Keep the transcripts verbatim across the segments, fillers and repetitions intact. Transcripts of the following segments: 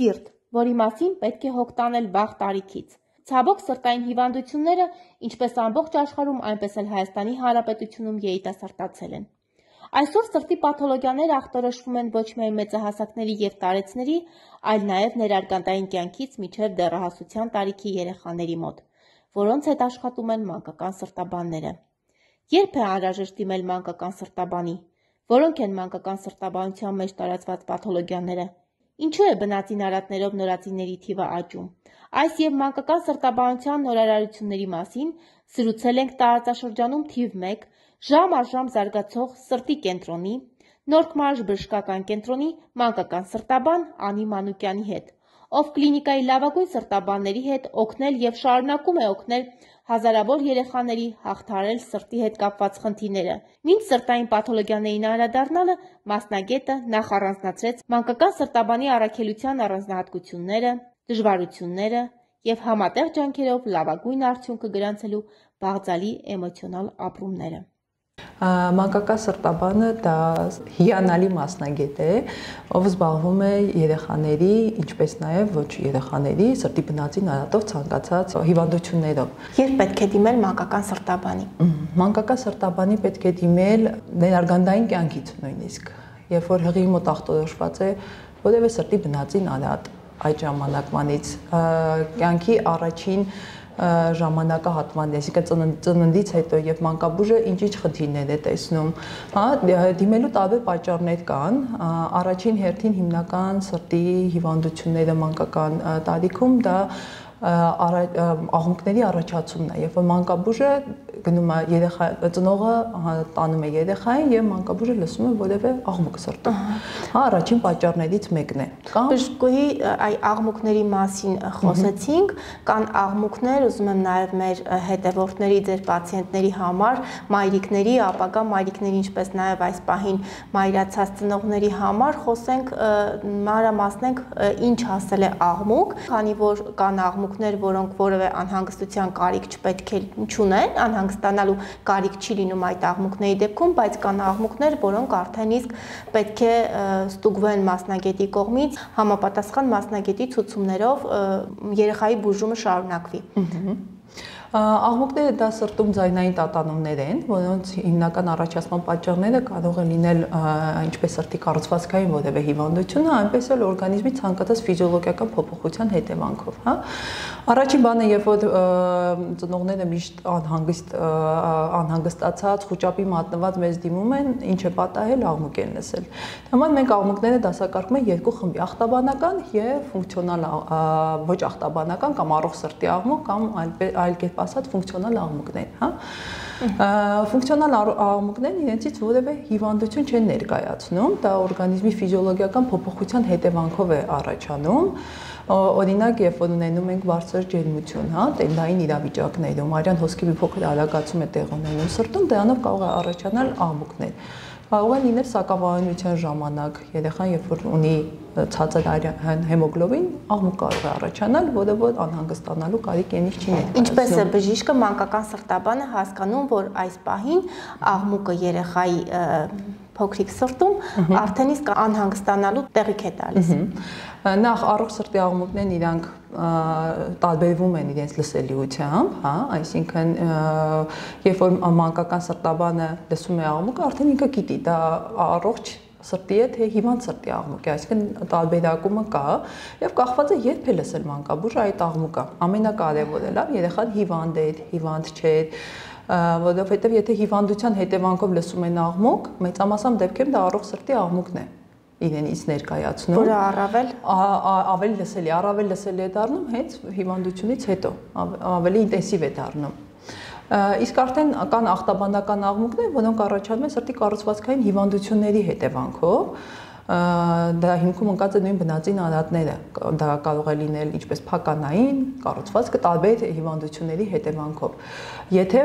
սիրտ, որի մասին պետք է հոգ տանել վաղ տարիքից։ Ցավոք սրտային հիվանդությունները, ինչպես ամբողջ աշխարհում, այնպես էլ Հայաստանի Հանրապետությունում երիտասարդացել են։ Այսօր սրտի պաթոլոգիաները ախտորոշվում են ոչ միայն մեծահասակների և տարեցների, այլ նաև ներարգանդային կյանքից մինչև դեռահասության տարիքի երեխաների մոտ, որոնց հետ աշխատում են մանկական սրտաբանները։ Երբ է անհրաժեշտ դիմել մանկական սրտաբանի, որոնք են մանկական սրտաբանության մեջ տարածված պաթոլոգիաները, ինչու է բնածին արատներով նորածինների թիվը աճում։ Այս և մանկական սրտաբանության նորարարությունների մասին զրուցել ենք տարածաշրջանում թիվ մեկ ժամ առ ժամ զարգացող սրտի կենտրոնի, Նորք Մարզ բժշկական կենտրոնի մանկական սրտաբան Անի Մանուկյանի հետ, ով կլինիկայի լավագույն սրտաբանների հետ օգնել և շարունակում է օգնել հազարավոր երեխաների հաղթահարել սրտի հետ կապված խնդիրները։ Մինչ սրտային պաթոլոգիաներին անդրադառնալը մասնագետը նախ առանձնացրեց մանկական սրտաբանի առաքելության առանձնահատկությունները, դժվարությունները և համատեղ ջանքերով լավագույն արդյունքը գրանցելու բաղձալի էմոցիոնալ ապրումները։ Մանկական սրտաբանը դա հիանալի մասնագետ է, ով զբաղվում է երեխաների, ինչպես նաև ոչ երեխաների սրտի բնածին արատով ցանկացած հիվանդություններով։ Երբ պետք է դիմել մանկական սրտաբանի։ Մանկական սրտաբանի պետք է դիմել ներարգանդային կյանքից նույնիսկ, երբ որ հղի մոտ ախտորոշված է որևէ սրտի բնածին արատ, այդ ժամանակվանից կյանքի առաջին ժամանակահատման, այսինքն ծննդից հետո եւ մանկաբույժը ինչ-ինչ խնդիրներ է տեսնում, հա, դիմելու տարբեր պատճառներ կան, առաջին հերթին հիմնական սրտի հիվանդությունները մանկական տարիքում դա աղմուկների առաջացումն է, երբ որ մանկաբույժը գնում է երեխա ծնողը տանում է երեխային եւ մանկաբույժը լսում է որևէ աղմուկ սրտում։ Հա, առաջին պատճառներից մեկն է։ Բժշկուհի այ աղմուկների մասին խոսեցինք, կան աղմուկներ, ուզում եմ նաեւ մեր հետևորդների, ձեր պացիենտների համար, մայրիկների, ապագա մայրիկների, ինչպես նաեւ այս պահին մայրացած ծնողների համար խոսենք, մանրամասնենք ինչ հասել է աղմուկ, քանի որ կան աղմուկներ, որոնք որևէ անհանգստության կարիք չպետք է չունեն, անհանգստանալու կարիք չի լինում այդ աղմուկների դեպքում, բայց կան աղմուկներ, որոնք արդեն իսկ պետք է ստուգվեն մասնագետի կողմից, համապատասխան մասնագետի ցուցումներով երեխայի բուժումը շարունակվի։ Աղմուկները դա սրտում ձայնային տատանումներ են, որոնց հիմնական առաջացման պատճառները կարող են լինել ինչպես սրտի կառուցվածքային որևէ հիվանդությունը, այնպես էլ օրգանիզմի ցանկացած ֆիզիոլոգիական փոփոխության հետևանքով, հա։ Առաջին բանը, երբ որ ծնողները միշտ անհանգիստ անհանգստացած, խուճապի մատնված մեզ դիմում են, ինչ է պատահել, աղմուկ են լսել։ Համար մենք աղմուկները դասակարգում ենք երկու խմբի՝ աղտաբանական եւ ֆունկցիոնալ ոչ աղտաբանական կամ առողջ սրտի աղմուկ կամ այլ կերպ ասած ֆունկցիոնալ աղմուկներ, հա։ Ֆունկցիոնալ աղմուկներն իրենցից որևէ հիվանդություն չեն ներկայացնում, դա օրգանիզմի ֆիզիոլոգիական փոփոխության հետևանքով է առաջանում։ Օրինակ, երբ որ ունենում ենք բարձր ջերմություն, հա, տենդային իրավիճակներում, արյան հոսքի մի փոքր արագացում է տեղ ունենում սրտում, դրանով կարող է առաջանալ աղմուկներ։ Կարող է լինել սակավարյունության ժամանակ, երեխան երբ որ ունի ցածր արյան հեմոգլոբին, աղմուկ կարող է առաջանալ, որը որ անհանգստանալու կարիք ենիք չի ներկայացնում։ Ինչպես է բժիշկը մանկական սրտաբանը հասկանում, որ այս պահին աղմուկը երեխայի փոքրիկ սրտում արդեն իսկ անհանգստանալու տեղիք է տալիս։ Նախ առողջ սրտի աղմուկներն իրանք տարբերվում են իրենց լսելիությամբ, հա, այսինքն երբ որ մանկական սրտաբանը լսում է աղմուկը, արդեն ինքը գիտի, դա առողջ սրտի է, թե հիվանդ սրտի աղմուկ է, այսինքն տարբերակումը կա եւ կախված է երբ է լսել մանկաբույժը այդ աղմուկը։ Ամենակարևորը լավ երեխան հիվանդ է, հիվանդ չէ, որովհետեւ եթե հիվանդության հետևանքով լսում են աղմուկ, մեծամասամբ դեպքերում դա առողջ սրտի աղմուկն է իրենից ներկայացնում, որը առավել ավելի լսելի, առավել լսելի է դառնում հենց հիվանդությունից հետո, ավելի ինտենսիվ է դառնում։ Իսկ արդեն կան աղտաբանական աղմուկներ, որոնք առաջանում են սրտի կառուցվածքային հիվանդությունների հետևանքով, դա հիմքում ընկած է նույն բնածին արատները, դա կարող է լինել ինչպես փականային կառուցվածքը տարբեր հիվանդությունների հետևանքով։ Եթե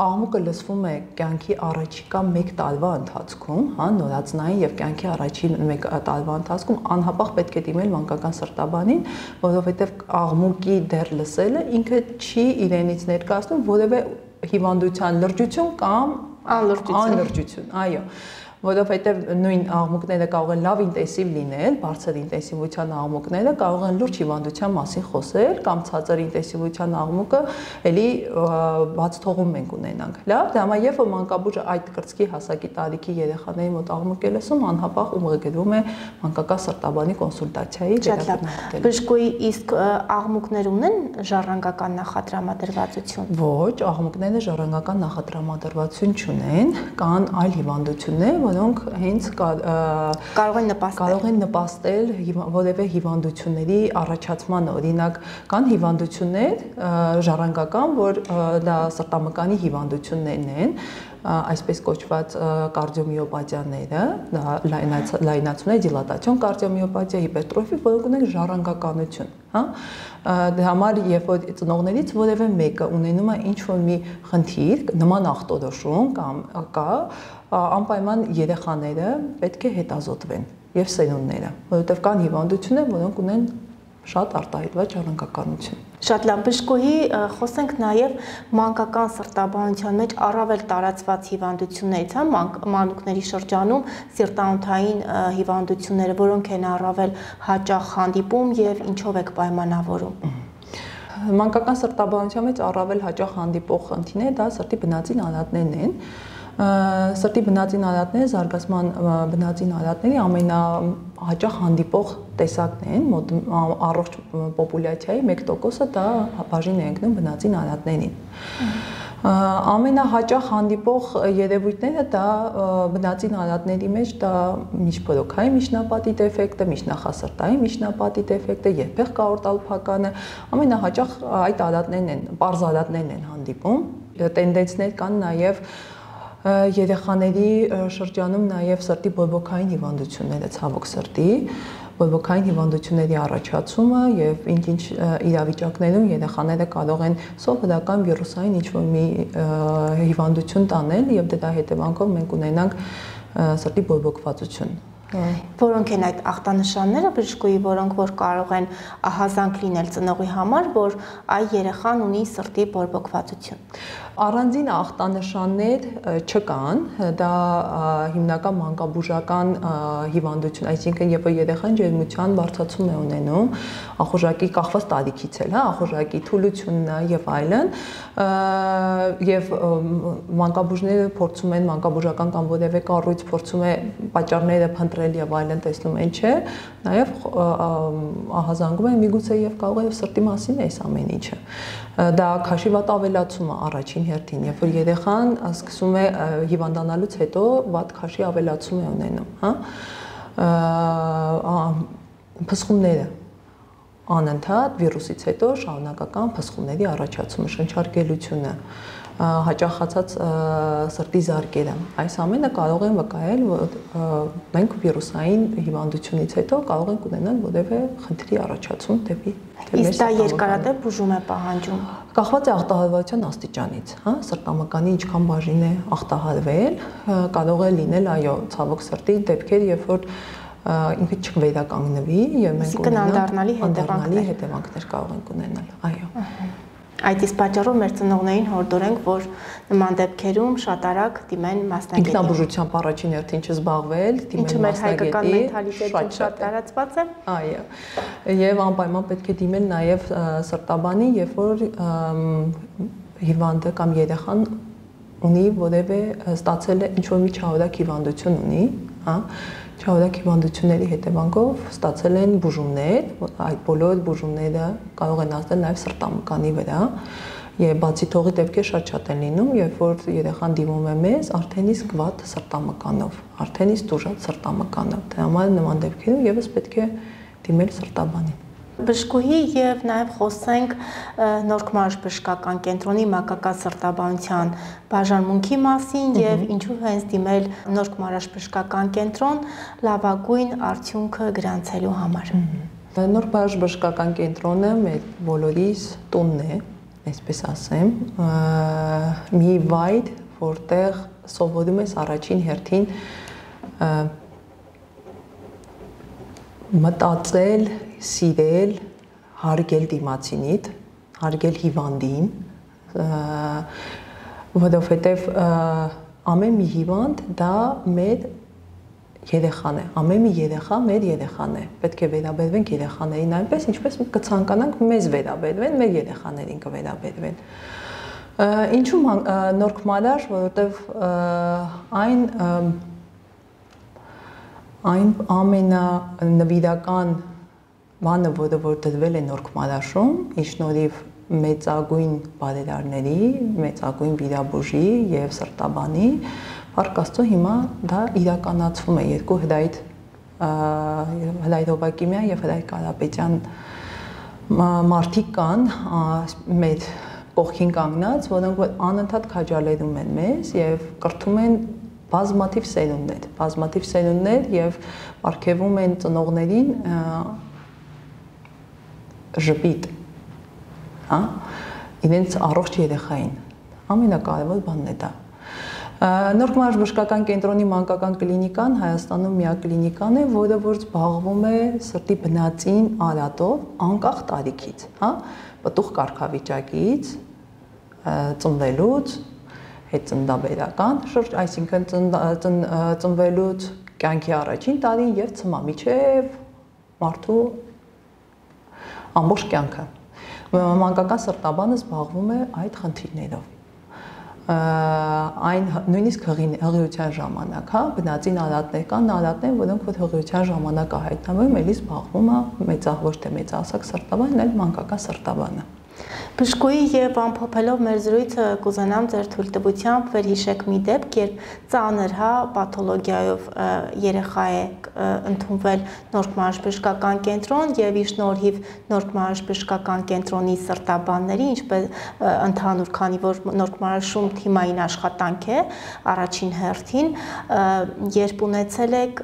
աղմուկը լսվում է կյանքի առաջիկա մեկ տարվա ընթացքում, հա, նորածնային եւ կյանքի առաջին մեկ տարվա ընթացքում անհապաղ պետք է դիմել մանկական սրտաբանին, որովհետեւ աղմուկի դեռ լսելը ինքը չի իրենից ներկայացնում որևէ հիվանդության լրջություն կամ անլրջություն, անլրջություն, այո։ որովհետև նույն աղմուկները կարող են լավ ինտենսիվ լինել, բարձր ինտենսիվության աղմուկները կարող են լուրջ հիվանդության մասին խոսել, կամ ցածր ինտենսիվության աղմուկը էլի բաց թողում մենք ունենանք։ Լավ, դա համար երբ որ մանկաբույժը այդ կրծքի հասակի տարիքի երեխաների մոտ աղմուկ է լսում, անհապաղ ուղղագրվում է մանկական սրտաբանի կոնսուլտացիայի դեպքում։ Բժշկուհի, իսկ աղմուկներ ունեն ժառանգական նախատրամադրվածություն։ Ոչ, աղմուկները ժառանգական նախատրամադրվածություն չունեն, կան այլ հիվանդություններ, որոնք հենց կարող են նպաստել կարող են նպաստել որևէ հիվանդությունների առաջացման, օրինակ կան հիվանդություններ ժառանգական, որ դա սրտամկանի հիվանդություններն են, այսպես կոչված կարդիոմիոպաթիաները, դա լայնացում է դիլատացիոն կարդիոմիոպաթիա, հիպերտրոֆի, որոնք ունեն ժառանգականություն, հա։ Դրա համար երբ որ ծնողներից որևէ մեկը ունենում է ինչ-որ մի խնդիր, նման ախտորոշում կամ կա, անպայման երեխաները պետք է հետազոտվեն եւ սերունդները, որովհետեւ կան հիվանդություններ, որոնք ունեն շատ արտահայտված ժառանգականություն։ Շատ լավ, բժշկուհի, խոսենք նաև մանկական սրտաբանության մեջ առավել տարածված հիվանդություններից, հա, մանուկների շրջանում սիրտանոթային հիվանդությունները, որոնք են առավել հաճախ հանդիպում եւ ինչով եք պայմանավորում։ Մանկական սրտաբանության մեջ առավել հաճախ հանդիպող խնդիրները դա սրտի բնածին արատներն են։ Սրտի բնածին արատները զարգացման բնածին արատների ամենահաճախ հանդիպող տեսակն են, մոտ առողջ պոպուլյացիայի մեկ տոկոսը դա բաժին է ընկնում բնածին արատներին։ Ամենահաճախ հանդիպող երևույթները դա բնածին արատների մեջ դա միջբորոքային միջնապատի դեֆեկտը, միջնախասրտային միջնապատի դեֆեկտը, երբեղ կաորտալփականը, ամենահաճախ այդ արատներն են, պարզ արատներն են հանդիպում։ Տենդենսներ կան նաև երեխաների շրջանում նաև սրտի բորբոքային հիվանդությունները, ցավոք սրտի, բորբոքային հիվանդությունների առաջացումը եւ ինչ-ինչ իրավիճակներում երեխաները կարող են սովորական վիրուսային ինչ-որ մի հիվանդություն տանել եւ դրա հետևանքով մենք ունենանք սրտի բորբոքվածություն։ Որոնք են այդ ախտանշանները, բժշկուհի, որոնք որ կարող են ահազանգ լինել ծնողի համար, որ այ երեխան ունի սրտի բորբոքվածություն։ Առանձին ախտանշաններ չկան, դա հիմնական մանկաբուժական հիվանդություն, այսինքն երբ որ երեխան ջերմության բարձրացում է ունենում, ախորժակի կախված տարիքից էլ, հա, ախորժակի թուլությունն եւ այլն, եւ մանկաբուժները փորձում են մանկաբուժական կամ որևէ կառույց փորձում է պատճառները փնտրել եւ այլն, տեսնում են, չէ, նաեւ ահազանգում են միգուցե եւ կարող է սրտի մասին է այս ամեն ինչը։ Դա քաշի վատ ավելացումը առաջին հերթին, երբ որ երեխան սկսում է հիվանդանալուց հետո վատ քաշի ավելացում է ունենում, հա, փսխումները անընդհատ վիրուսից հետո շարունակական փսխումների առաջացումը, շնչարգելությունը, հաճախացած սրտի զարկերը, այս ամենը կարող են վկայել, որ մենք վիրուսային հիվանդությունից հետո կարող ենք ունենալ որևէ խնդրի առաջացում դեպի Իսկ դա երկարատև բուժում է պահանջում։ Կախված է ախտահարվածության աստիճանից, հա, սրտամկանի ինչքան բաժին է ախտահարվել, կարող է լինել, այո, ցավոք սրտի դեպքեր, երբ որ ինքը չվերականգնվի եւ մենք ունենանք անդառնալի հետևանքներ կարող ենք ունենալ, այո։ Այդ իսկ պատճառով մեր ծնողներին հորդորենք, որ նման դեպքերում շատ արագ դիմեն մասնագետի։ Ինքնաբուժությամբ առաջին հերթին չզբաղվել, դիմեն մասնագետի։ Ինչը մեր հայկական մենթալիտետում շատ տարածված է։ Այո։ Եվ անպայման պետք է դիմել նաև սրտաբանի, երբ որ հիվանդը կամ երեխան ունի որևէ ստացել է ինչ-որ մի չարորակ հիվանդություն ունի, հա, չարորակ հիվանդությունների հետևանքով ստացել են բուժումներ, այդ բոլոր բուժումները կարող են ազդել նաև սրտամկանի վրա, եւ բացի թողի դեպքեր շատ-շատ են լինում, երբ որ երեխան դիմում է մեզ արդեն իսկ վատ սրտամկանով, արդեն իսկ տուժած սրտամկանով, դրա համար նման դեպքերում եւս պետք է դիմել սրտաբանին։ Բժշկուհի եւ նաեւ խոսենք Նորք Մարաշ բժշկական կենտրոնի մանկական սրտաբանության բաժանմունքի մասին եւ ինչու հենց դիմել Նորք Մարաշ բժշկական կենտրոն լավագույն արդյունքը գրանցելու համար։ Նորք Մարաշ բժշկական կենտրոնը մեր բոլորիս տունն է, այսպես ասեմ, մի վայր, որտեղ սովորում ես առաջին հերթին մտածել, սիրել, հարգել դիմացինիդ, հարգել հիվանդին, որովհետև ամեն մի հիվանդ դա մեր երեխան է, ամեն մի երեխա մեր երեխան է, պետք է վերաբերվենք երեխաներին այնպես, ինչպես կցանկանանք մեզ վերաբերվեն, մեր երեխաներին կվերաբերվեն։ Ինչու նորք մալար, որովհետև այն այն ամենանվիրական բանը, որը որ դրվել է նորք մալաշում, ի շնորհիվ մեծագույն բարերարների, մեծագույն վիրաբուժի եւ սրտաբանի, Փառք Աստծո, հիմա դա իրականացվում է երկու հրայր Հրայր Հովակիմյան եւ Հրայր Կարապետյան մարդիկ կան մեր կողքին կանգնած, որոնք անընդհատ քաջալերում են մեզ եւ կրթում են բազմաթիվ սերունդներ, բազմաթիվ սերունդներ եւ ապարգևում են ծնողներին ժպիտ, հա, իրենց առողջ երեխային։ Ամենակարևոր բանն է դա։ Նորք մալաշ բժշկական կենտրոնի մանկական կլինիկան Հայաստանում միակ կլինիկան է, որը որ զբաղվում է սրտի բնածին արատով անկախ տարիքից, հա, պտուղ կարգավիճակից, ծնվելուց, հետծննդաբերական շուրջ, այսինքն ծնվելուց կյանքի առաջին տարին եւ ցմա միջև մարդու ամբողջ կյանքը։ Մանկական սրտաբանը զբաղվում է այդ խնդիրներով։ Այն նույնիսկ հղիության ժամանակ, հա, բնածին արատներ կան, արատներ, որոնք որ հղիության ժամանակ հայտնվում, էլի զբաղվում է մեծահ ոչ թե մեծահասակ սրտաբանն, այլ մանկական սրտաբանը։ Բժշկուհի եւ ամփոփելով մեր զրույցը կուզենամ ձեր թույլտվությամբ վերհիշեք մի դեպք, երբ ծանր, հա, պաթոլոգիայով երեխա է ընդունվել Նորք մալաշ բժշկական կենտրոն եւ ի շնորհիվ Նորք մալաշ բժշկական կենտրոնի սրտաբանների, ինչպես ընդհանուր, քանի որ Նորք մալաշում թիմային աշխատանք է առաջին հերթին, երբ ունեցել եք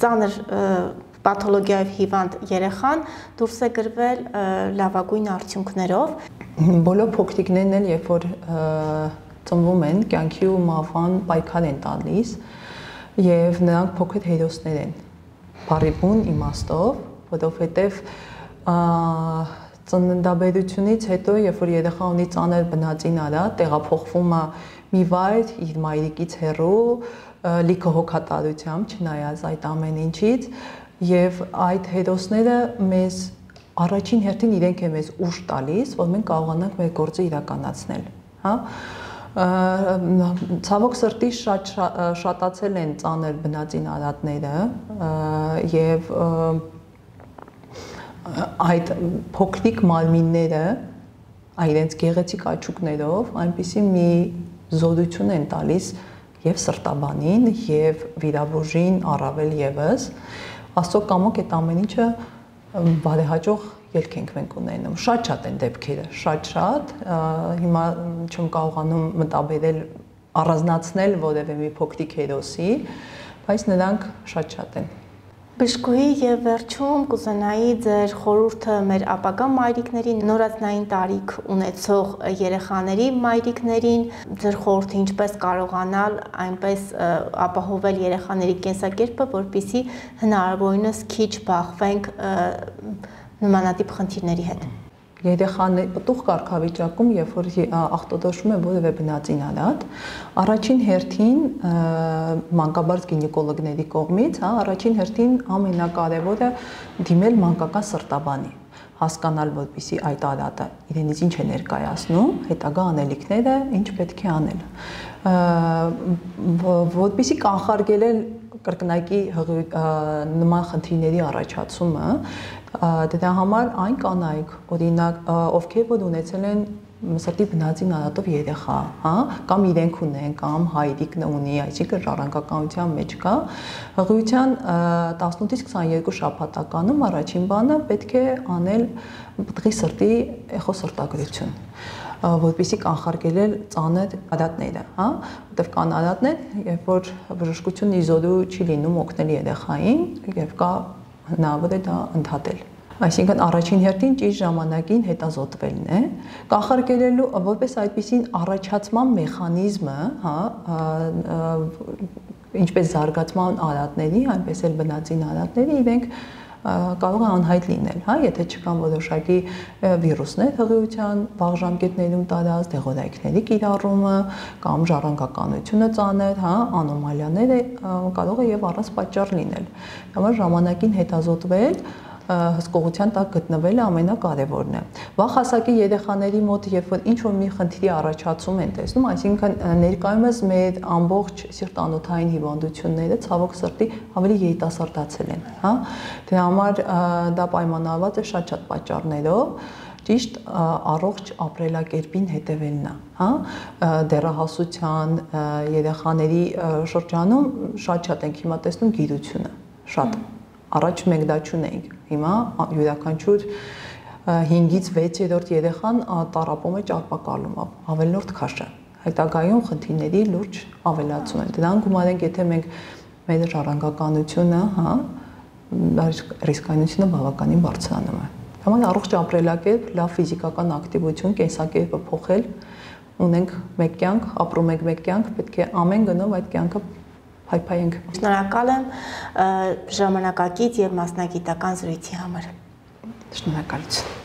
ծանր պաթոլոգիայով հիվանդ երեխան դուրս է գրվել լավագույն արդյունքներով։ Բոլոր փոքրիկներն էլ երբ որ ծնվում են, կյանքի ու մահվան պայքար են տալիս եւ նրանք փոքր հերոսներ են։ Բարի բուն իմաստով, որովհետեւ ծննդաբերությունից հետո, երբ որ երեխա ունի ծանր բնածին արատ, տեղափոխվում է մի վայր իր մայրիկից հեռու, լիքը հոգատարությամբ, չնայած այդ ամեն ինչից, եւ այդ հերոսները մեզ առաջին հերթին իրենք են մեզ ուժ տալիս, որ մենք կարողանանք մեր գործը իրականացնել, հա։ Ցավոք սրտի շատ շատացել են ծանր բնածին արատները եւ այդ փոքրիկ մարմինները իրենց գեղեցիկ աչուկներով այնպիսի մի զորություն են տալիս եւ սրտաբանին եւ վիրաբուժին առավել եւս Աստծո կամոք այդ ամեն ինչը բարեհաջող ելք ենք մենք ունենում։ Շատ-շատ են դեպքերը, շատ-շատ, հիմա չեմ կարողանում մտաբերել առանձնացնել որևէ մի փոքրիկ հերոսի, բայց նրանք շատ-շատ են։ Բժշկուհի եւ վերջում կուզենայի ձեր խորհուրդը մեր ապագա մայրիկներին, նորածնային տարիք ունեցող երեխաների մայրիկներին, ձեր խորհուրդը ինչպես կարողանալ այնպես ապահովել երեխաների կենսակերպը, որպեսզի հնարավորինս քիչ բախվենք նմանատիպ խնդիրների հետ։ Երեխաների պտուղ կարգավիճակում, երբ որ ախտոտոշում է որևէ բնածին արատ, առաջին հերթին մանկաբարձ գինեկոլոգների կողմից, հա, առաջին հերթին ամենակարևորը դիմել մանկական սրտաբանի, հասկանալ, որպեսզի այդ արատը իրենից ինչ է ներկայացնում, հետագա անելիքները ինչ պետք է անել, որպեսզի կանխարգելել կրկնակի նման խնդիրների առաջացումը, դրա համար այն կանայք, օրինակ, ովքեր որ ունեցել են սրտի բնածին արատով երեխա, հա, կամ իրենք ունեն, կամ հայրիկն ունի, այսինքն ժառանգականության մեջ կա, հղիության տասնութից քսաներկու շաբաթականում առաջին բանը պետք է անել պտղի սրտի էխոսրտագրություն, որպեսզի կանխարգելել ծանր արատները, հա, որտեղ կան արատներ, երբ որ բժշկությունն իզոդու չի լինում օգնել երեխային, եւ կա հնարավոր է դա ընդհատել։ Այսինքն առաջին հերթին ճիշտ ժամանակին հետազոտվելն է, կանխարգելելու որպես այդպիսին առաջացման մեխանիզմը, հա, ինչպես զարգացման արատների, այնպես էլ բնածին արատների, իրենք կարող է անհայտ լինել, հա, եթե չկան որոշակի վիրուսներ հղիության վաղ ժամկետներում տարած, դեղորայքների կիրառումը կամ ժառանգականությունը ծանր, հա, անոմալիաները կարող է եւ առանց պատճառ լինել։ Համար ժամանակին հետազոտվել հսկողության տակ գտնվելը ամենակարևորն է։ Վաղ հասակի երեխաների մոտ, երբ որ ինչ-որ մի խնդրի առաջացում են տեսնում, այսինքն ներկայումս մեր ամբողջ սիրտանոթային հիվանդությունները ցավոք սրտի ավելի երիտասարդացել են, հա։ Դրա համար դա պայմանավորված է շատ-շատ պատճառներով, ճիշտ առողջ ապրելակերպին հետևելն է, հա, դեռահասության երեխաների շրջանում շատ-շատ ենք հիմա տեսնում գիրությունը, շատ առաջ մենք դա չունեինք, հիմա յուրաքանչյուր հինգից վեցերորդ երեխան տառապում է ճարպակալումով, ավելորդ քաշը, հետագայում խնդիրների լուրջ ավելացում են, դրան գումարենք, եթե մենք մեր ժառանգականությունը, հա, ռիսկայնությունը բավականին բարձրանում է, համար առողջ ապրելակերպ, լավ ֆիզիկական ակտիվություն, կենսակերպը փոխել, ունենք մեկ կյանք, ապրում ենք մեկ կյանք, պետք է ամեն գնով այդ կյանքը հայփայենք։ Շնորհակալ եմ ժամանակակից եւ մասնագիտական զրույցի համար։ Շնորհակալություն։